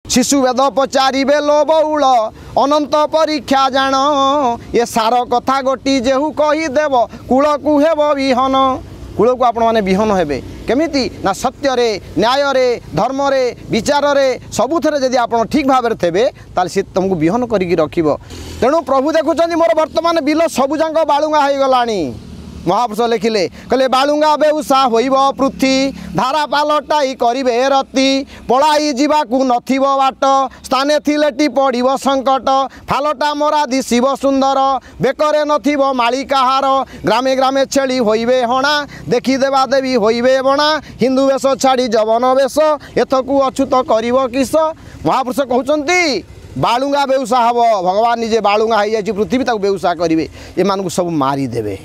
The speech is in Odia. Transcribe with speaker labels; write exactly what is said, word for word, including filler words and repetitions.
Speaker 1: ଶିଶୁ ବେଦ ପଚାରିବେ ଲୋ ବଉଳ, ଅନନ୍ତ ପରୀକ୍ଷା ଜାଣ। ଏ ସାର କଥା ଗୋଟି ଯେହୁ କହିଦେବ, କୂଳକୁ ହେବ ବିହନ। କୂଳକୁ ଆପଣମାନେ ବିହନ ହେବେ କେମିତି ନା ସତ୍ୟରେ, ନ୍ୟାୟରେ, ଧର୍ମରେ, ବିଚାରରେ, ସବୁଥିରେ ଯଦି ଆପଣ ଠିକ୍ ଭାବରେ ଥିବେ, ତାହେଲେ ସେ ତୁମକୁ ବିହନ କରିକି ରଖିବ। ତେଣୁ ପ୍ରଭୁ ଦେଖୁଛନ୍ତି ମୋର ବର୍ତ୍ତମାନ ବିଲ ସବୁଯାକ ବାଳୁଙ୍ଗା ହେଇଗଲାଣି। ମହାପୁରୁଷ ଲେଖିଲେ, କହିଲେ ବାଳୁଙ୍ଗା ବେଉସା ହୋଇବ ପୃଥ୍ୱୀ, ଧାରା ପାଲଟାଇ କରିବେ ରତି। ପଳାଇ ଯିବାକୁ ନଥିବ ବାଟ, ସ୍ଥାନେ ଥିଲେଟି ପଡ଼ିବ ସଙ୍କଟ। ଫାଲଟା ମରା ଦିଶିବ ସୁନ୍ଦର, ବେକରେ ନଥିବ ମାଳିକାହାର। ଗ୍ରାମେ ଗ୍ରାମେ ଛେଳି ହୋଇବେ ହଣା, ଦେଖିଦେବା ଦେବୀ ହୋଇବେ ବଣା। ହିନ୍ଦୁ ବେଶ ଛାଡ଼ି ଯବନ ବେଶ, ଏଥକୁ ଅଛୁତ କରିବ କିସ? ମହାପୁରୁଷ କହୁଛନ୍ତି ବାଳୁଙ୍ଗା ବେଉସା ହେବ। ଭଗବାନ ନିଜେ ବାଳୁଙ୍ଗା ହେଇଯାଇଛି ପୃଥିବୀ, ତାକୁ ବେଉସା କରିବେ, ଏମାନଙ୍କୁ ସବୁ ମାରିଦେବେ।